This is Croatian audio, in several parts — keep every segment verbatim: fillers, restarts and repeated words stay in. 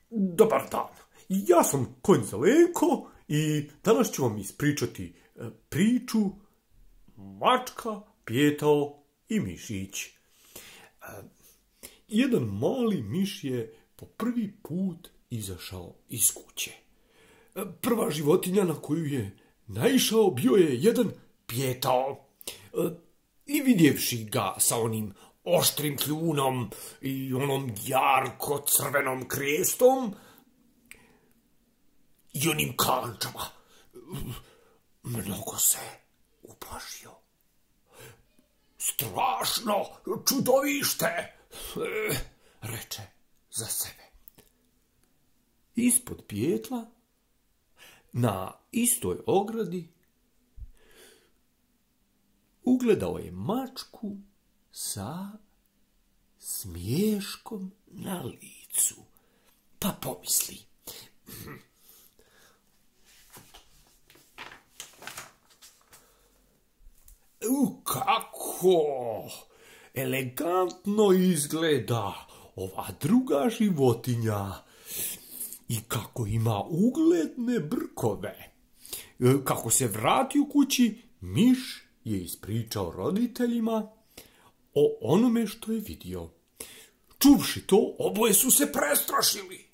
Dobar dan, ja sam konj Zelenko i danas ću vam ispričati priču Mačka, Pijetao i Mišić. Jedan mali miš je po prvi put izašao iz kuće. Prva životinja na koju je naišao bio je jedan Pijetao. I vidjevši ga sa onim oštrim kljunom i onom jarko crvenom krestom i onim kalančama, mnogo se uplašio. Strašno čudovište, reče za sebe. Ispod pijetla, na istoj ogradi, ugledao je mačku sa smiješkom na licu, pa pomisli: U, kako elegantno izgleda ova druga životinja i kako ima ugledne brkove. Kako se vrati u kući, miš je ispričao roditeljima o onome što je vidio. Čuvši to, oboje su se prestrašili.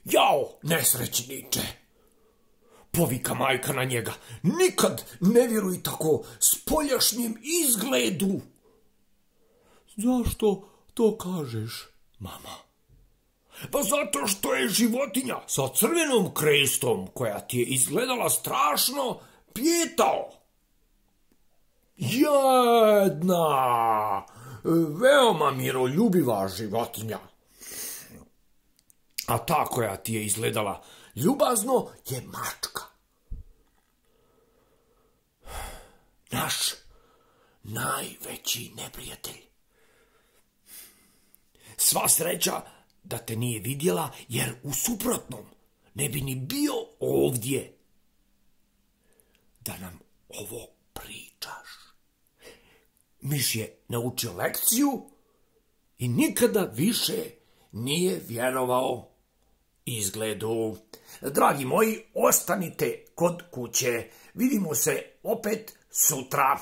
Jao, nesrećniče, povika majka na njega, nikad ne vjeruj tako spoljašnjem izgledu. Zašto to kažeš, mama? Pa zato što je životinja sa crvenom krestom, koja ti je izgledala strašno, Pijetao. Jedna veoma miroljubiva životinja. A ta koja ti je izgledala ljubazno je mačka. Naš najveći neprijatelj. Sva sreća da te nije vidjela, jer u suprotnom ne bi ni bio ovdje da nam ovo pričaš. Miš je naučio lekciju i nikada više nije vjerovao izgledu. Dragi moji, ostanite kod kuće. Vidimo se opet sutra.